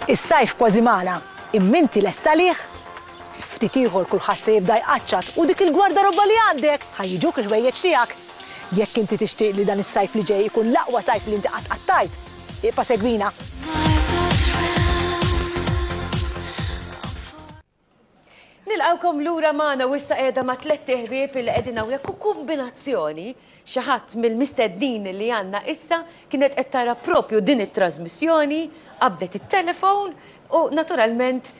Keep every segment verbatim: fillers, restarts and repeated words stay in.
Is-sajf kważi magħna, imma inti lesta lih? Ftit ieħor kulħadd se jibda jqaċċat u dik il-gwardarobba li għandek ħa jiġuk il-ħwejjeġ tiegħek. Jekk inti tixtieq li dan is-sajf li ġej ikun l-aqwa sajf li inti qatt qattajt, ibqa' segwina. Nilqawkom lura magħna u issa qiegħda ma' tlett iħbieb li qegħdin hawnhekk u kombinazzjoni xi ħadd mill-mistednin li għandna issa kienet qed tara propju din it-trasmissjoni, qabdet it-telefon u naturalment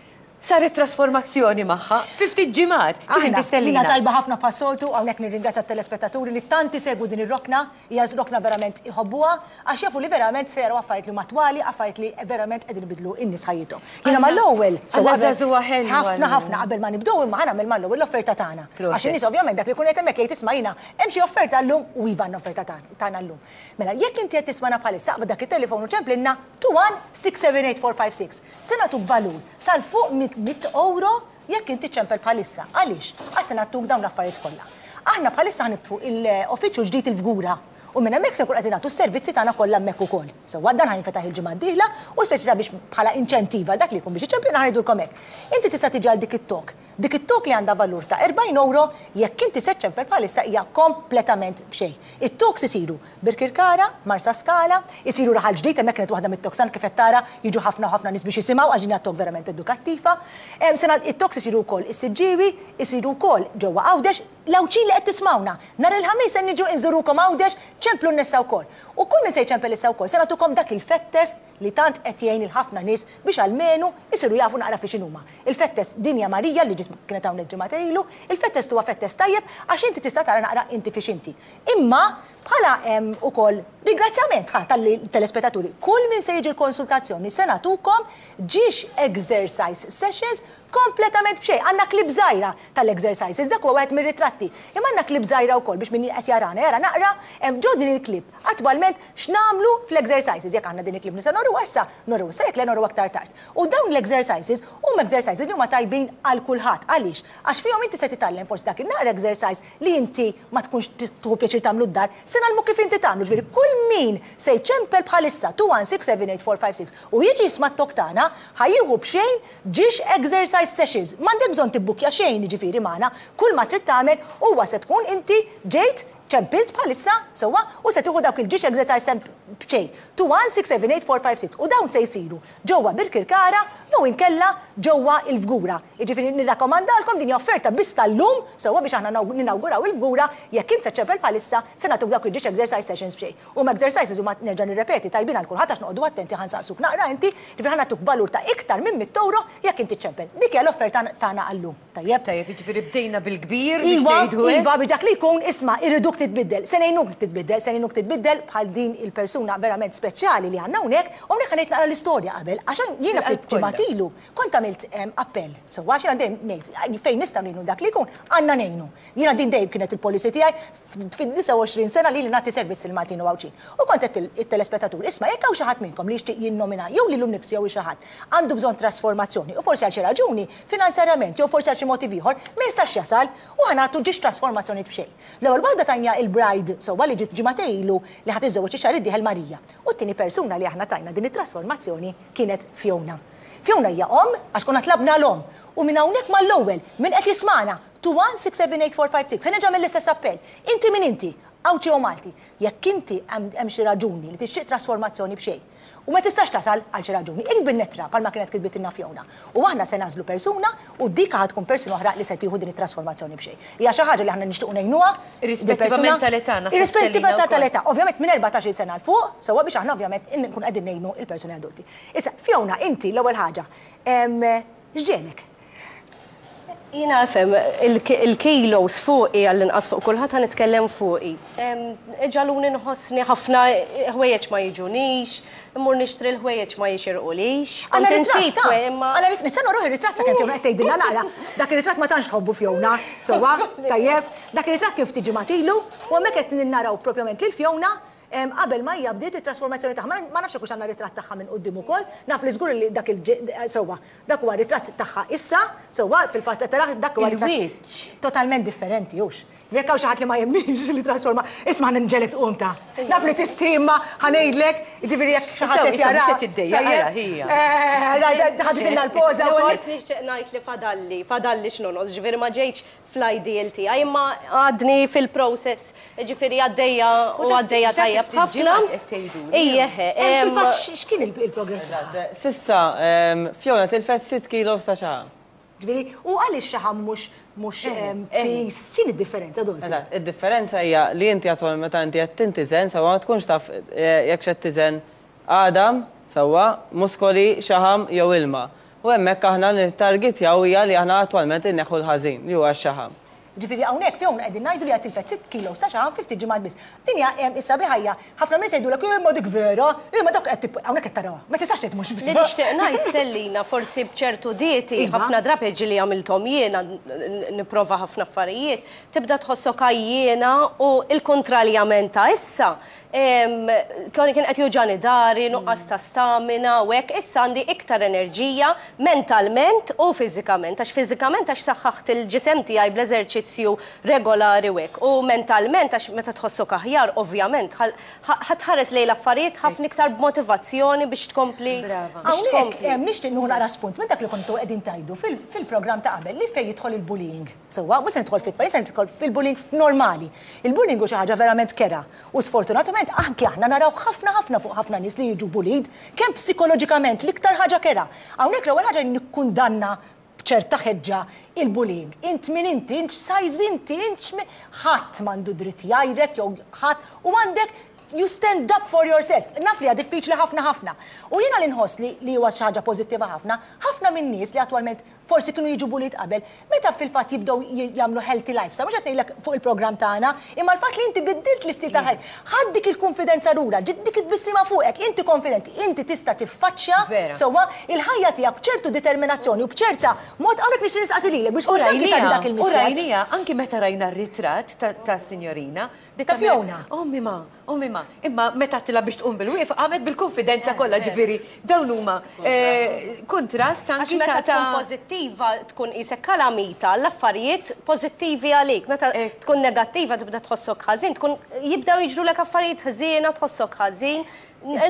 saret trasformazzjoni magħha fi ftit ġimgħat. Kif inti Aħna, Stellina? Lina tajba ħafna bħas-soltu, hawnhekk nirringrazzja t-telespettaturi li tant isegwu din ir-rokna, hija rokna verament iħobbuha, għax jafu li verament se jaraw affarijiet li huma attwali, affarijiet li verament qegħdin ibidlu n-nies ħajjithom. Jiena mal-ewwel, so Għandna qabel- żagħżugħa ħelwa ħafna llum. ħafna qabel ma nibdew imma ħa nagħmel mal-ewwel l-offerta tagħna. Proset. Għax in-nies ovvjament dak li jkun qed hemmhekk jgħid isma' jiena hemm xi offerta llum u iva għandna offerta tagħna tagħna llum. Mela jekk inti qed tismana bħalissa aqbad dak it-telefon u ċemplilna two one six seven eight four five six. Se nagħtuk valur tal-fuq minn mitt euro jekk inti ċempel bħalissa. Għaliex? Għax se nagħtuk dawn l-affarijiet kollha. Aħna bħalissa ħa niftħu l-uffiċċju ġdid il-Fgura. U minn hemmhekk se nkun qed nagħtu s-servizzi tagħna kollha hemmhekk ukoll. Sewwa dan ħa jinfetaħ il-ġimgħa d-dieħla u speċi ta' biex bħala inċentiva dak li jkun biex iċemplina ħa ngħidulkom hekk. Inti tista' tiġi għal dik it-talk. Dik it-talk li għandha valur ta' erbgħin euro jekk inti se ċempel bħalissa hija kompletament b'xejn. It-talks isiru Birkirkara, Marsaskala, isiru Raħal Ġdid, hemmhekk kienet waħda mit-talks kif qed tara jiġu ħafna u ħafna nies biex jisimgħu għax din hija talk verament edukattiva. Em, sena it-talks isiru wkoll is-Siġġiewi, isiru wkoll ġewwa Għawdex, l-Għawdxin li qed tismawna. Nhar il-Ħamis se niġu inżurukom Għawdex, ċemplu n-nisa wkoll. U kull min se jċempel issa wkoll se nagħtukom dak il-fat test li tant qed jgħin il-ħafna nies biex almenu isiru jafu naqra fi x'inhuma. Il-fat test dinja Marija li ġiet kienet hawnhekk ġimgħa ilu, il-fat test huwa fat test tajjeb għax inti tista' tara naqra inti fiex inti. Imma bħala hemm ukoll ringrazzjament ħa tal-telespettaturi, kull min se jiġi l-konsultazzjoni se nagħtukom ġiex exercise sessions kompletament b'xejn. Għandna clip żgħira tal-exercises, dak huwa wieħed mir-ritratti. Imma għandna clip żgħira wkoll biex min qed jarana jara naqra hemm ġo din il-clip. Attwalment x'nagħmlu fl-exercises, jekk għandna din il-clip nista' noru issa, noru issa jekk le noru aktar tard. U dawn l-exercises huma exercises li huma tajbin għal kulħadd. Għaliex? Għax fihom inti se titgħallem forsi dak in-naqra exercise li inti ma tkunx tieħu pjaċir tagħmlu d-dar, se nagħmlu kif inti tagħmlu. Ġifieri kull min se jċempel bħalissa two one six seven eight four five six u jiġi jisma' t-talk tagħna ħa jieħu b'xejn ġiex exercise sessions. M'għandek bżonn tibbukkja xejn jiġifieri magħna, kull ma trid tagħmel huwa se tkun inti ġejt ċempilt bħalissa sewwa u se tieħu dawk il-ġiex exercise b'xejn. two one six seven eight four five six u dawn se jsiru ġewwa Birkirkara jew inkella ġewwa il-Fgura. Jiġifieri nirrakkomandalkom din hija offerta biss tal-lum sewwa biex aħna ninawguraw il-Fgura jekk int se ċempel bħalissa se nagħtuk dawk il-ġiex exercise sessions b'xejn. U ma exercises huma nerġa' nirrepeti tajbin għal kulħadd għax noqogħdu attenti ħa nsaqsuk naqra inti, ġifieri ħa nagħtuk valur ta' iktar minn mitt euro jekk inti ċempel. Dik hija l-offerta tagħna għallum. Tajjeb? Tajjeb, jiġifieri bdejna bil-kbir biex Iva, ngħidu hekk. iva, biex dak li jkun isma' irriduk titbiddel. Se ngħinuk titbiddel, se ngħinuk titbiddel bħal din il-persuna verament speċjali li għandna hawnhekk, u hawnhekk ħa ngħid naqra l-istorja qabel, għax jiena ftit Fil-qalb kollha. ġimgħat ilu kont għamilt, em, appell. So għax jiena dejjem ngħid fejn nistgħu ngħinu dak li jkun, għandna ngħinu. Jiena din dejjem kienet il-policy tiegħi fid-disgħa u għoxrin sena li li nagħti servizz il-Maltin u Għawdxin. U kont qed it-telespettatur, isma' jekk hawn xi ħadd minnkom li jixtieq jinnomina jew lilu nnifsu jew xi ħadd għandu bżonn trasformazzjoni u forsi għal xi raġuni finanzjarjament jew forsi għal xi motiv ieħor ma jistax jasal u ħa nagħtu ġiex trasformazzjoni b'xejn. L-ewwel waħda tajna il-bride sewwa li ġiet ġimgħa ilu li ħadd iżżewweġ ix-xahar id-dieħel Marija. U t-tieni persuna li aħna tajna din it-trasformazzjoni kienet Fiona. Fiona hija omm għax konna tlabna l-omm u minn hawnhekk mal-ewwel min qed jismana two one six seven eight four five six se nerġa' mill-istess appell. Inti min inti, Għawdxi jew Malti, jekk inti hemm xi raġuni li tixtieq trasformazzjoni b'xejn u ma tistax tasal għal xi raġuni, ikteb bin-nettra bħalma kienet kitbitilna Fiona. U aħna se nagħżlu persuna u dik ħa tkun persuna oħra li se tieħu din it-trasformazzjoni b'xejn. Hija xi ħaġa li aħna nixtiequ ngħinuha. Irrispettivament tal-età, naħseb Irrispettiva Stellina wkoll. tal-età, ovvjament minn erbatax-il sena 'l fuq, sewwa biex aħna ovvjament nkun qegħdin ngħinu il-persuni adulti. Issa, Fiona, inti l-ewwel ħaġa, em, x'ġegħlek? Jiena fem, il-kilos fuqi għall-inqas fuq kulħadd ħa nitkellem fuqi. Ġagħluni nħossni ħafna ħwejjeġ ma jiġunix, immur nixtri l-ħwejjeġ ma jixirqulix. Għandna Kont ritratt, insib ta' kwe, imma Għandna ritratt, nista' noruh ir-ritratt sakemm Fiona qed tgħidilna naqra. Dak ir-ritratt ma tantx tħobbu Fiona, sewwa, tajjeb. Dak ir-ritratt kif tiġi matilu, u hemmhekk qed naraw propjament lil Fiona Qabel ma hija bdiet it-trasformazzjoni tagħha. Ma nafx hekk għandna ritratt tagħha minn quddiem ukoll, naf li żgur li dak il sewwa, dak huwa ritratt tagħha issa, sewwa fil-fatt taraħ dak huwa ritratt totalment differenti hux. Jekk hawn xi ħadd li ma jemminx li trasforma, isma' nġelet tqum ta'. Naf li tistima ħa ngħidlek, jiġifieri jekk xi ħadd qed jara. Ħaditilna l-poża wkoll. Nixtieq ngħid li fadalli, fadalli x'nonqos, ġifieri ma ġejtx fl-ideal tiegħi, imma għadni fil-process, ġifieri għaddejja u għaddejja tajjeb ħafna. Ejjeħ. Fil-fatt x'kien il-progress tagħha? S'issa, Fiona tilfet sitt kilos ta' xaħam. Ġifieri, u għaliex xaħam mhux mhux piż, x'inhi d-differenza Dorothy? Eżatt, id-differenza hija li inti attwalment meta inti qed tintiżen sewwa ma tkunx taf jekk x'qed tiżen għadam, sewwa, muskoli, xaħam jew ilma. U hemmhekk aħna nittargetjaw hija li aħna attwalment inneħħu l-ħażin li huwa x-xaħam. Ġifieri hawnhekk Fiona qegħdin ngħidu li qed tilfet sitt kilos ta' xaħam fi ftit ġimgħat biss. Din hija issa biħajja, ħafna minn jgħidulek imma dik vera, imma dak qed hawnhekk qed tarawha. Ma tistax tgħid mhux vera. Li nixtieq ngħid Stellina, forsi b'ċertu dieti, ħafna drabi ġieli għamilthom jiena nipprova ħafna affarijiet, tibda tħossok għajjiena u l-kontrarjament ta' issa. Kien kien qed juġani dari, nuqqas ta' stamina u hekk, issa għandi iktar enerġija mentalment u fiżikament, għax fiżikament għax saħħaħt il-ġisem tiegħi bl-eżerċizzju regolari u hekk. U mentalment għax meta tħossok aħjar, ovvjament, ħatħares lejn l-affarijiet ħafna iktar b'motivazzjoni biex tkompli. Hawnhekk nixtieq nieħu naqra spunt minn dak li kontu qegħdin tgħidu fil-programm ta' qabel li fejn jidħol il-bullying. Sewwa, mhux se nidħol fit-tfal, se nidħol fil-bullying f'normali. Il-bullying hu xi ħaġa verament kerha u sfortunatament anki aħna naraw ħafna ħafna fuq ħafna nies li jiġu bullied, kemm psikoloġikament l-iktar ħaġa kerha. Hawnhekk l-ewwel ħaġa nikkundanna b'ċerta ħeġġa il-bullying. Int min inti, int size inti, int ħadd m'għandu dritt jgħajrek jew ħadd u għandek you stand up for yourself. Naf li hija diffiċli ħafna ħafna. U jiena li nħoss li huwa xi ħaġa pożittiva ħafna, ħafna minn nies li attwalment forsi kienu jiġu bullied qabel, meta fil-fatt jibdew jagħmlu healthy lifestyle, mhux qed ngħidlek fuq il-programm tagħna, imma l-fatt li inti biddilt l-istil tal-ħajja, ħadd dik il-konfidenza lura, ġiet dik it-tbissima fuqek, inti konfidenti, inti tista' tiffaċċja sewwa il-ħajja tiegħek b'ċertu determinazzjoni u b'ċerta mod hawnhekk nixtieq nistaqsi lilek biex forsi anki tagħti dak il-messaġġ. U rajnija, anki meta rajna r-ritratt ta' signorina, ta' Fiona. Ommi ma, ommi ma, imma meta tila biex tqum bil-wieqfa qamet bil-konfidenza kollha, ġifieri dawn huma kontrast anki ta' tkun pożittiva tkun qisek kalamita l-affarijiet pożittivi għalik. Meta tkun negattiva tibda tħossok ħażin, tkun jibdew jiġrulek affarijiet ħżiena tħossok ħażin.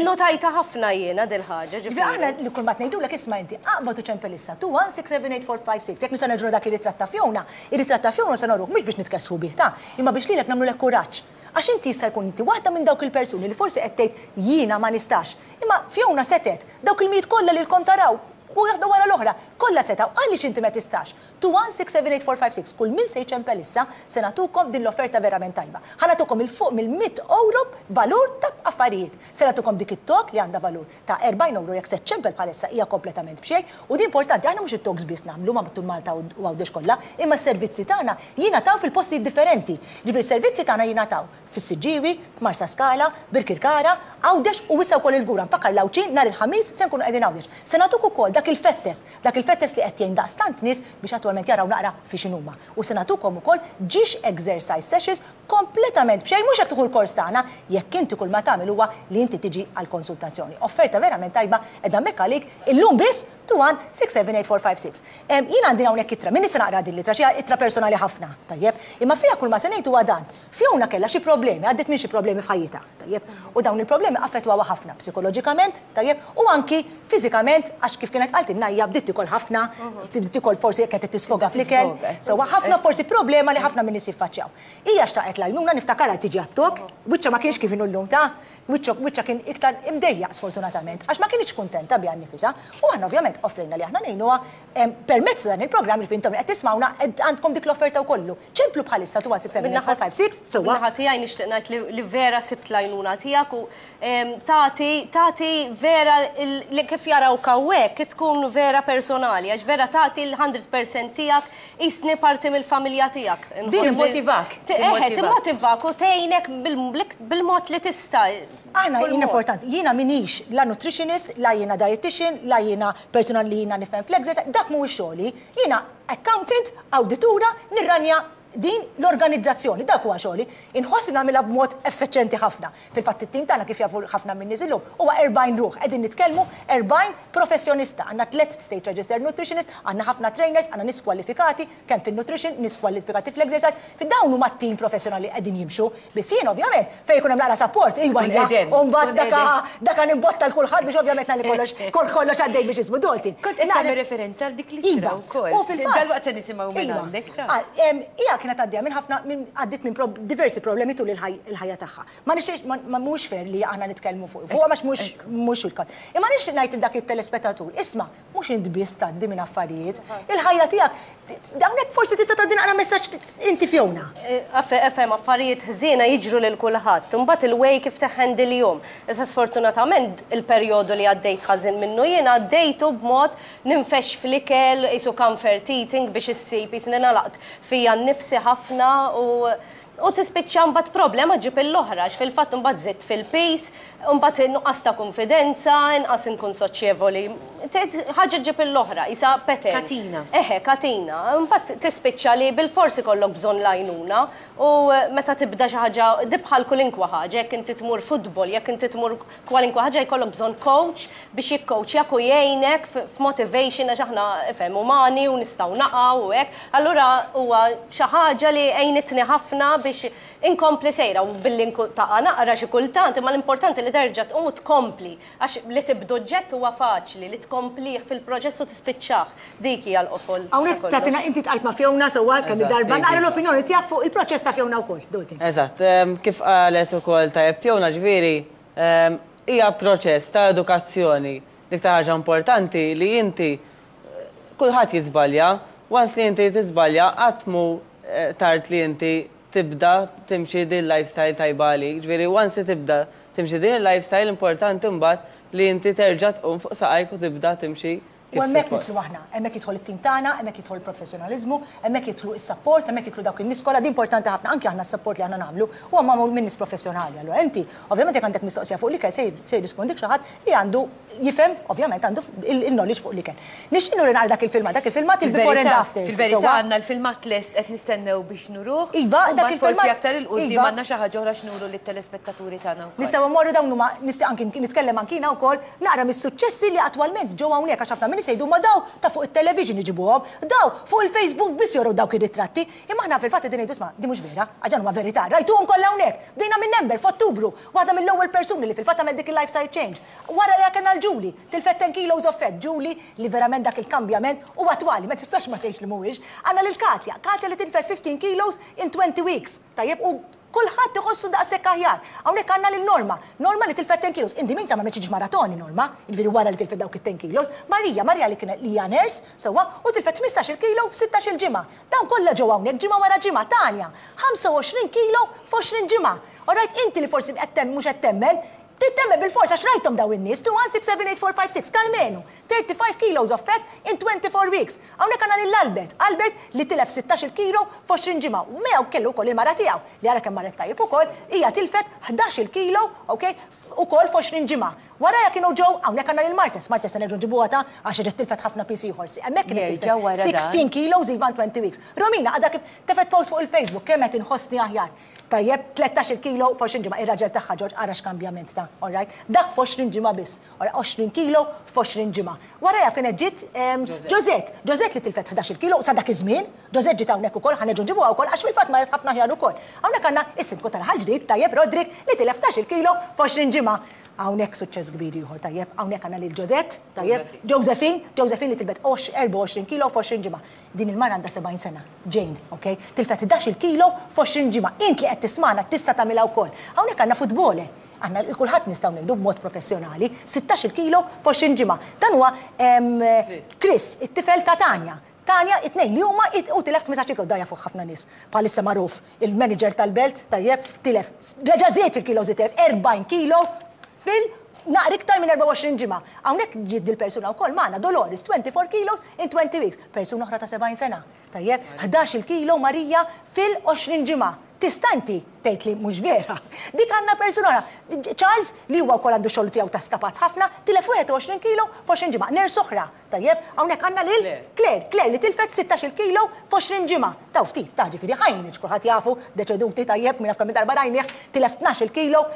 Notajta ħafna jiena dil-ħaġa. Ġifieri aħna li kull ma tgħidulek isma' inti aqbad u ċempel issa two one six seven eight four five six. Jekk nista' nerġgħu dak ir-ritratt ta' Fiona, ir-ritratt ta' Fiona se noruh mhux biex nitkessħu bih ta' imma biex lilek nagħmlulek kuraġġ. Għax inti jista' jkun inti waħda minn dawk il-persuni li forsi qed tgħid jiena ma nistax. Imma Fiona setet, dawk il-mijiet kollha li lkom taraw, waħda wara l-oħra, kollha setgħu, għaliex inti ma tistax. two one six seven eight four five six, kull min se jċempel issa se nagħtukom din l-offerta verament tajba. Ħa nagħtukom il fuq mill-mitt euro valur ta' affarijiet. Se nagħtukom dik it-talk li għandha valur ta' erbgħin euro jekk se ċempel bħalissa hija kompletament b'xejn. U din importanti, aħna mhux it-talks biss nagħmlu ma' matul Malta u Għawdex kollha, imma s-servizzi tagħna jingħataw fil-postijiet differenti. Ġifieri s-servizzi tagħna jingħataw fis-Siġġiewi, f'Marsa Skala, Birkirkara, Għawdex u issa wkoll il-Fgura. Nfakkar l-Għawdxin nhar il-Ħamis se nkunu qegħdin Għawdex. Se nagħtuk ukoll dak il-fat test, dak il-fat test li qed jgħin daqstant nies biex attwalment jaraw naqra fi x'inhuma. U se nagħtukom ukoll ġiex exercise sessions kompletament b'xejn, mhux hekk tieħu l-kors tagħna, jekk inti kull ma tagħmel huwa li inti tiġi għal konsultazzjoni. Offerta verament tajba qiegħda hemmhekk għalik illum biss two one six seven eight four five six. Jien għandi hawnhekk ittra, min se naqra din l-ittra, xi ittra personali ħafna, tajjeb, imma fiha kull ma se ngħid huwa dan. Fiona kellha xi problemi, għaddiet minn xi problemi f'ħajjitha, tajjeb, u dawn il-problemi affettwawha ħafna psikoloġikament, tajjeb, u anki fiżikament, għax kif kienet qaltilna hija bdiet tikol ħafna, bdiet tikol forsi jekk qed tisfoga fl-ikel, so ħafna forsi problema li ħafna minn nies jiffaċċjaw. Hija xtaqet l-għajnuna, niftakarha tiġi għat-tok, wiċċha ma kienx kif inhu llum ta' wiċċha kien iktar imdejjaq sfortunatament, għax ma kienx kuntenta biha nnifisha, u aħna ovvjament offrejna li aħna ngħinuha permezz dan il-programm li fintom qed tismawna għandkom dik l-offerta wkollu. Ċemplu bħalissa two one six seven eight four five six, sewwa. Min-naħa tiegħi nixtieq ngħid li vera sibt l-għajnuna tiegħek u tagħti tagħti vera li kif jarawk hawnhekk tkun vera personali, għax vera tagħti l-hundred percent tiegħek qisni parti mill-familja tiegħek. Timmotivak. Eħe, timmotivak u tgħinek bil-mod li tista'. Aħna jien importanti, jiena minix la nutritionist, la jiena dietitian, la jiena personal li jiena nifhem fl-exercise, dak mhuwiex xogħli, jiena accountant, awditura, nirranja Din l-organizzazzjoni, dak huwa xogħli, inħoss nagħmilha b'mod effiċjenti ħafna. Fil-fatt it-tim tagħna, kif jafu ħafna minn nies illum, huwa erbgħin ruħ, qegħdin nitkellmu erbgħin professjonista. Għandna tliet state registered nutritionist, għandna ħafna trainers, għandna nies kwalifikati kemm fin-nutrition, nies kwalifikati fl-exercise. Fid-dawn huma tim professjonali qegħdin jimxu. Biss jien ovvjament fejn jkun hemm naqra support, iwa hija, u mbagħad daka daka nimbotta l kulħadd biex ovvjament nagħli kollox kollox għaddej biex ismu Dalton. Kont qed tagħmel referenza għal dik l-ittra wkoll. U fil-fatt. Dalwaqt se nisimgħu minn għandek ta' Hija kienet għaddejja minn ħafna minn għaddiet minn diversi problemi tul il-ħajja tagħha. Ma nixtiex, ma mhux fair li aħna nitkellmu fuq fuq għax mhux mhux il-każ. Imma nixtieq ngħid il dak it-telespettatur, isma', mhux int biss tgħaddi minn affarijiet, il-ħajja tiegħek dawnek forsi tista' tgħaddi naqra messaġġ inti, Fiona. Efhem, affarijiet ħżiena jiġru lil kulħadd. Imbagħad il-way kif teħendilhom. Issa sfortunatament il-perjodu li għaddejt ħażin minnu jien għaddejtu b'mod ninfex fl-ikel, isu comfort eating biex issib, jisni nalaqt fija nnifsi ħafna u u tispiċċa mbagħad problema ġib l-oħra, għax fil-fatt mbagħad żidt fil-piż, mbagħad nuqqas ta' konfidenza, inqas inkun soċjevoli. Ħaġa ġib l-oħra, isa pattern. Katina. Eħe, katina. Mbagħad tispiċċa li bil-forsi kollok bżonn lajnuna u meta tibda xi ħaġa dibħal kulinkwa ħaġa, jekk inti tmur futbol, jekk inti tmur kwalinkwa ħaġa, jkollok bżonn coach biex jikkoachjak u jgħinek f'motivation, għax aħna ifhem umani u nistgħu naqgħu u hekk. Allura huwa xi ħaġa li għejnitni ħafna biex inkompli sejra u billi taqa' naqra xi kultant, imma l-importanti li terġa' tqum u tkompli, għax li tibdu ġett huwa faċli, li tkomplih fil-proċess u tispiċċah. Dik hija l-qofol. Hawnhekk tagħtina inti tqajt ma' Fiona sewwa kemm darba, naqra l-opinjoni tiegħek fuq il-proċess ta' Fiona wkoll, Dalton. Eżatt, kif qalet ukoll tajjeb Fiona, ġifieri hija proċess ta' edukazzjoni. Dik ta' ħaġa importanti li inti kulħadd jiżbalja, once li inti tiżbalja qatt mu tard li inti tibda timxi din lifestyle tajba għalik. Ġifieri once li tibda timxi din il-lifestyle, importanti mbagħad li inti terġa' tqum fuq saqajk u tibda timxi U hemmhekk nidħlu aħna, hemmhekk jidħol it-tim tagħna, hemmhekk jidħol il-professjonaliżmu, hemmhekk jidħlu is-support, hemmhekk jidħlu dawk in-nies kollha, di importanti ħafna, anke aħna s-support li aħna nagħmlu huwa magħmul minn nies professjonali. Allura inti, ovvjament, jekk għandek mistoqsija fuq l-ikel se jirrispondik xi ħadd li għandu jifhem, ovvjament għandu il-knowledge fuq l-ikel. Nixtieq nuri dak il-filmat, dak il-filmat il-before and after. Fil-verità għandna l-filmat lest, qed nistennew biex nuruh. Iva, dak il-filmat. Forsi aktar il-qudiem għandna xi ħaġa oħra x'nuru lit-telespettaturi tagħna wkoll. Nistgħu mmorru dawn huma nistgħu anki nitkellem ankina wkoll naqra mis-suċċessi li attwalment ġew hawnhekk, għax ħafna min jgħidu ma daw ta' fuq it-television iġibuhom, daw fuq il-Facebook biss joru dawk ir-ritratti. Imma aħna fil-fatt qegħdin ngħidu, isma', di mhux vera, għax huma verità. Rajtuhom kollha hawnhekk. Bdejna minn Ember f'Ottubru, waħda mill-ewwel persuni li fil-fatt għamel dik il-lifestyle change. Wara li kellna l-Julie, tilfet ten kilos of fat, Julie li verament dak il-kambjament u attwali, ma tistax ma tgħidx li mhuwiex. Għandna lil Katja, Katja li tilfet fifteen kilos in twenty weeks. Tajjeb, u kulħadd iħossu daqshekk aħjar. Hawnhekk għandna lil Norma, Norma li tilfet ten kilos. Inti min ta' ma meċiġ maratoni Norma, jiġifieri wara li tilfet dawk it-ten kilos. Marija, Marija li kienet li hija nurse, sewwa, u tilfet ħmistax-il kilo f'sittax-il ġimgħa. Dawn kollha ġew hawnhekk ġimgħa wara ġimgħa. Tanja, ħamsa u għoxrin kilo f'għoxrin ġimgħa. Alright, inti li forsi qed mhux qed temmen, tittemmen bil-forsa għax rajtom daw in-nies, two one six seven eight four five six, Carmenu, thirty-five kilos of fat in twenty-four weeks. Hawnhekk għandna lil Albert, Albert li tilef sittax-il kilo f'għoxrin ġimgħa. U miegħu kellu wkoll il-mara tiegħu, li ara kemm marret tajjeb ukoll, hija tilfet ħdax-il kilo, okay, ukoll f'għoxrin ġimgħa. Wara kienu ġew hawnhekk għandna lil Martes, Martes se nerġgħu nġibuha ta' għax ġiet tilfet ħafna piż ieħor. Hemmhekk kienet tilfet sixteen kilos even twenty weeks. Romina għadha kif tefet post fuq il-Facebook kemm qed inħossni aħjar. Tajjeb, tlettax-il kilo f'għoxrin ġimgħa. Ir-raġel tagħha Ġorġ, ara x'kambjament ta', all right? Dak f'għoxrin ġimgħa biss. għoxrin kilo f'għoxrin ġimgħa. Wara kienet ġiet Josette, Josette li tilfet ħdax-il kilo sa dak iż-żmien, Josette ġiet hawnhekk ukoll, ħa nerġgħu nġibuha wkoll għax fil-fatt marret ħafna aħjar ukoll. Hawnhekk għandna is-sindku tal-Ħal Ġdid, tajjeb, Roderick, li tilef ħdax-il kilo f'għoxrin ġimgħa. Hawnhekk suċċess kbir ieħor, tajjeb, hawnhekk għandna lil Josette, tajjeb, Josephine, Josephine li tilfet erbgħa u għoxrin kilo f'għoxrin ġimgħa. Din il-mara għandha sebgħin sena, Jane, okay? Tilfet ħdax-il kilo f'għoxrin ġimgħa. Int li qed tismana tista' tagħmilha wkoll. Hawnhekk għandna futboler. Għandna kulħadd nistgħu ngħidu b'mod professjonali, sittax-il kilo f'għoxrin ġimgħa. Dan huwa Chris, it-tifel ta' Tanja. Tanja, it-tnejn li huma u tilef ħmistax kilo, daja fuq ħafna nies. Bħalissa magħruf il-manager tal-belt, tajjeb, tilef, reġa' żied il-kilo, tilef erbgħin kilo fil naqra iktar minn erbgħa u għoxrin ġimgħa. Hawnhekk ġiet il-persuna wkoll magħna Dolores, twenty-four kilos in twenty weeks. Persuna oħra ta' sebgħin sena. Tajjeb, ħdax-il kilo Marija fil-għoxrin ġimgħa. Tista' inti Tgħid li mhux vera. Dik għandna persuna oħra. Charles li huwa wkoll għandu xogħol tiegħu ta' strapazz ħafna, tilef wieħed u għoxrin kilo f'għoxrin ġimgħa. Nurse oħra, tajjeb, hawnhekk għandna lil Claire, Claire li tilfet sittax-il kilo f'għoxrin ġimgħa. Taw ftit, ta' ġifieri ħajniġ kulħadd jafu, deċeduti tajjeb, minn kemm darba rajnieh, tilef tnax-il kilo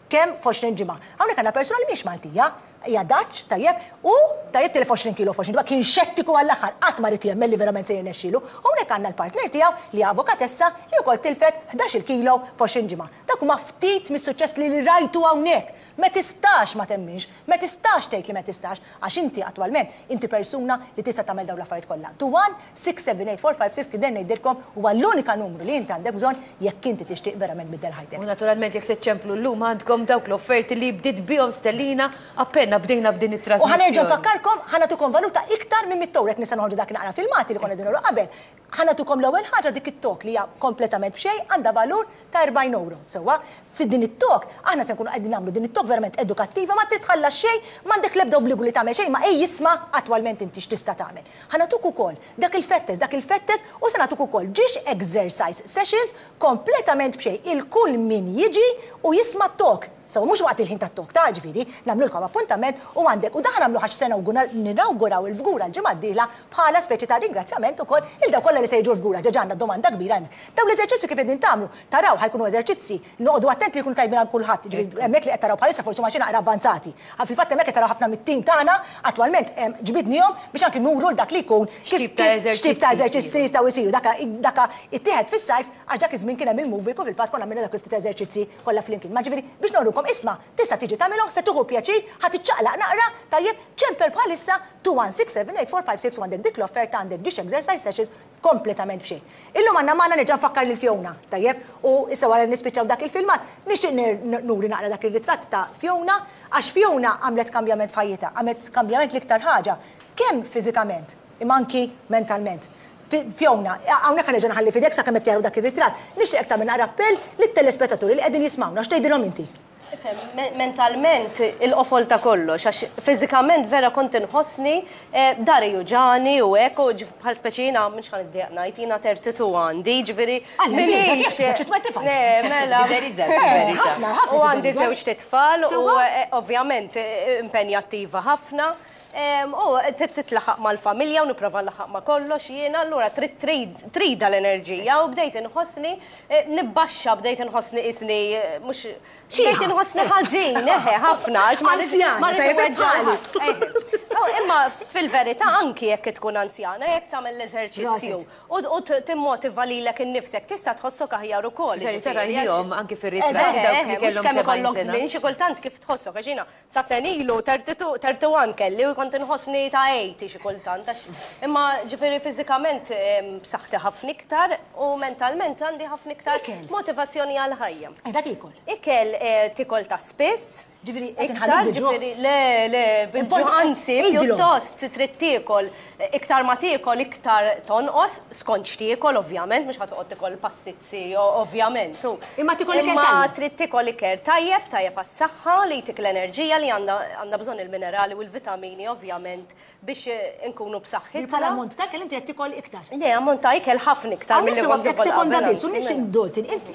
kemm f'għoxrin ġimgħa. Hawnhekk għandna persuna li mhix Maltija, hija Dutch, tajjeb, u tajjeb tilef għoxrin kilo f'għoxrin ġimgħa, kien xettiku għall-aħħar, qatt ma ried jemmen li verament se jirnexxielu. Hawnhekk għandna l-partner tiegħu li avukatessa li wkoll tilfet ħdax-il kilo f'għoxrin ġimgħa. Dak huma ftit mis-suċċess li rajtu hawnhekk. Ma tistax ma temminx, ma tistax tgħid li ma tistax, għax inti attwalment inti persuna li tista' tagħmel dawn l-affarijiet kollha. two one six seven eight four five six kif ngħidilkom huwa l-unika numru li inti għandek bżonn jekk inti tixtieq verament biddel ħajtek. U naturalment jekk se ċemplu llum għandkom dawk l-offerti li bdiet bihom Stellina appena bdejna b'din U ħa nerġa' it-trasmissjoni. nfakkarkom, ħa nagħtukom valuta iktar minn mitt ewro jekk nista' noħorġu dak naqra filmati li konna qegħdin qabel. Ħa nagħtukom l-ewwel ħaġa dik it-talk li hija kompletament b'xejn, għandha valur ta' erbgħin euro. Sewwa, fid din it-talk aħna se nkunu qegħdin nagħmlu din it-talk verament edukattiva, ma titħallas xejn, m'għandek l-ebda obbligu li tagħmel xejn, ma ej jisma' attwalment inti x'tista' tagħmel. Ħa nagħtuk ukoll dak il-fitness, dak il-fitness u se nagħtuk ukoll ġiex exercise sessions kompletament b'xejn il kull min jiġi u jisma' talk. So, mhux waqt il-ħin tat-talk ta' ġifieri, nagħmlulkom appuntament u għandek, u daħan nagħmlu ħax sena ninawguraw il-Fgura l-ġimgħa d-dieħla bħala speċi ta' ringrazzjament ukoll il daw kollha li se jiġu l-Fgura, ġa għandna domanda kbira hemm. Daw l-eżerċizzi kif qegħdin tagħmlu, taraw ħa jkunu eżerċizzi, noqogħdu attenti li jkunu tajbin għal kulħadd, ġifieri hemmhekk li qed taraw bħalissa forsi ma xi naqra avvanzati. Għal fil-fatt hemmhekk qed taraw ħafna mit-tim tagħna attwalment ġbidnihom biex anki nuru l dak li jkun x'tip ta' x'tip ta' eżerċizzi jistgħu jsiru. Daka daka ittieħed fis-sajf għax dak iż-żmien kien hemm il-movie u fil-fatt konna għamilna dak il-ftit eżerċizzi kollha flimkien. Ma ġifieri biex nurukom isma' tista' tiġi tagħmilhom, se tieħu pjaċir, ħa tiċċaqlaq naqra, tajjeb, ċempel bħalissa two one six seven eight four five six u għandek dik l-offerta, għandek ġiex exercise sessions kompletament b'xejn. Illum għandna magħna, nerġa' nfakkar lil Fiona, tajjeb, u issa wara li nispiċċaw dak il-filmat, nixtieq nuri naqra dak ir-ritratt ta' Fiona, għax Fiona għamlet kambjament f'ħajjitha, għamlet kambjament l-iktar ħaġa, kemm fiżikament, imma anki mentalment. Fiona, hawnhekk ħa nerġa' nħalli f'idek sakemm qed jaraw dak ir-ritratt. Nixtieq tagħmel appell lit-telespettaturi li qegħdin jismawna, x'tgħidilhom inti? Mentalment il-qofol ta' kollox, għax fiżikament vera kont inħossni eh, dahri juġgħani u hekk u bħal speċi jiena mhux ħa niddejjaq ngħid, jiena thirty-two għandi, ġifieri minix. Le, mela. U għandi żewġ tfal u eh, ovvjament eh, impenjattiva ħafna. U titlaħaq mal-familja u nipprova laħaq ma' kollox jiena, allura trid trida l-enerġija u bdejt inħossni nibbaxxa, bdejt inħossni isni mhux bdejt inħossni ħażin, eħe, ħafna, għax ma Imma fil-verità anki jekk tkun anzjana, jekk tagħmel l-eżerċizzju u timmotiva lilek innifsek tista' tħossok aħjar ukoll. Verità rajnihom anki fir-ritratti dawk li kellhom kemm ikollok żmien xi kultant kif tħossok, għax jiena sa senilu thirty-one kelli u kont inħossni ta' eighty xi kultant. Imma ġifieri fiżikament b'saħħti ħafna iktar u mentalment għandi ħafna iktar motivazzjoni għal ħajja. Qiegħda tiekol? Ikel tikol ta' spiss. Ġifieri qed inħallu ġifieri le, le, bil-ġuħ, anzi, pjuttost trid tiekol, iktar ma tiekol iktar tonqos, skont x'tiekol ovvjament, mhux ħa toqgħod tikol pastizzi ovvjament. Imma tikol ikel Imma trid tikol ikel tajjeb, tajjeb għas-saħħa li jtik l-enerġija li għandha bżonn, il-minerali u l-vitamini ovvjament biex inkunu b'saħħitna. Bħala ammont ta' ikel inti qed tikol iktar. Le, ammont ta' ikel ħafna iktar milli kont sekonda biss, u nix Dalton, inti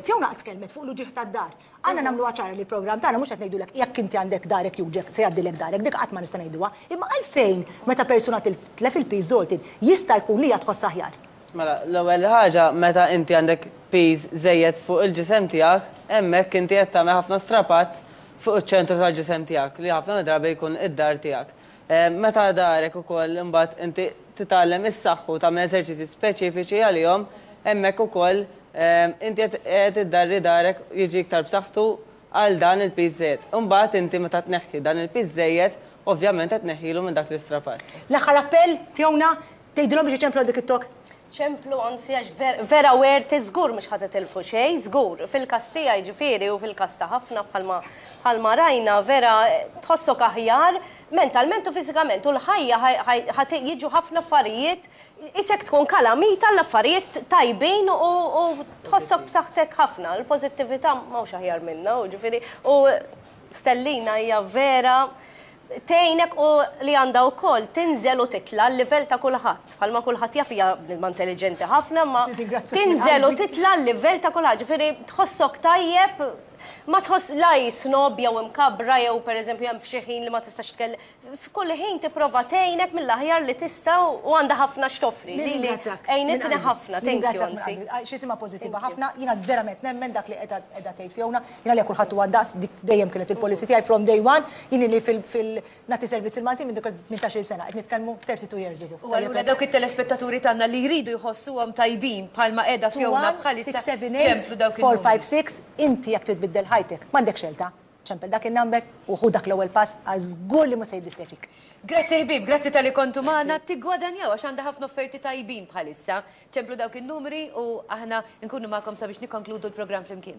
Fiona qatt tkellmet fuq l-uġigħ tad-dahar. Għandna nagħmlu ċara li l-programm tagħna mhux qed ngħidulek jekk inti għandek dahrek juġgħek se jgħaddilek dahrek, dik qatt ma nista' ngħiduha. Imma għalfejn meta persuna titlef il-piż, Dalton, jista' jkun li tħoss aħjar? Mela, l-ewwel ħaġa, meta inti għandek piż żejjed fuq il-ġisem tiegħek, hemmhekk inti qed tagħmel ħafna strapazz fuq iċ-ċentru tal-ġisem tiegħek li ħafna drabi jkun id-dahar tiegħek. Meta dahrek ukoll imbagħad inti titgħallem is-saħħu tagħmel eżerċizzi speċifiċi għalihom, hemmhekk ukoll inti qed iddarri dahrek jiġi iktar b'saħħtu għal dan il-piż żejjed. Imbagħad inti meta tneħħi dan il-piż żejjed, ovvjament qed tneħħilu minn dak l-istrapazz. L-aħħar appell, Fiona, tgħidilhom biex iċemplu dik it-talk. ċemplu, anzi, għax vera worth it, żgur mhux ħa titilfu xejn, żgur. Fil-każ tiegħi ġifieri u fil-każ ta' ħafna bħalma rajna vera tħossok aħjar mentalment u fiżikament u l-ħajja jiġu ħafna affarijiet isek tkun kalamita l-affarijiet tajbin u tħossok b'saħħtek ħafna. Il-pożittività m'hawnx aħjar minna u ġifieri u Stellina hija vera Tgħinek u li għandha wkoll tinżel u titla l-livell ta' kulħadd. Bħalma kulħadd jaf, hija bniedma intelligenti ħafna, ma Nirringrazzjak minn tinżel u qalbi. titla l-livell ta' kulħadd. Ġifieri tħossok tajjeb, ma tħoss la snob jew imkabra jew, pereżempju, hemm f'xi ħin li ma tistax tkellem. F'kull ħin tipprova tgħinek mill-aħjar li tista' u għandha ħafna x'toffri. Li li Nirringrazzjak. għejnitni ħafna, thank you, Nirringrazzjak minn anzi. qalbi. Għax x'jisimha pożittiva ħafna, jiena verament nemmen dak li qiegħda qiegħda tgħid Fiona, jiena li kulħadd huwa daqs, dik dejjem kienet il-policy tiegħi from day one, jien li fil fil nagħti servizz il-Malti minn dik tmintax-il sena, qed nitkellmu thirty-two years ago. U allura dawk it-telespettaturi tagħna li jridu jħossuhom tajbin bħalma qiegħda Fiona bħalissa, ċemplu dawk four il-numri. five six, inti jekk trid tbiddel ħajtek, m'għandek xelta. Ċempel dak il-number u ħu dak l-ewwel pass, għax żgur li mhux se jiddispjaċik. Grazzi ħbib, grazzi talli kontu magħna, tiggwadanjaw għax għandha ħafna offerti tajbin bħalissa. Ċemplu dawk il-numri u aħna nkunu magħkom sabiex nikkonkludu l-programm flimkien.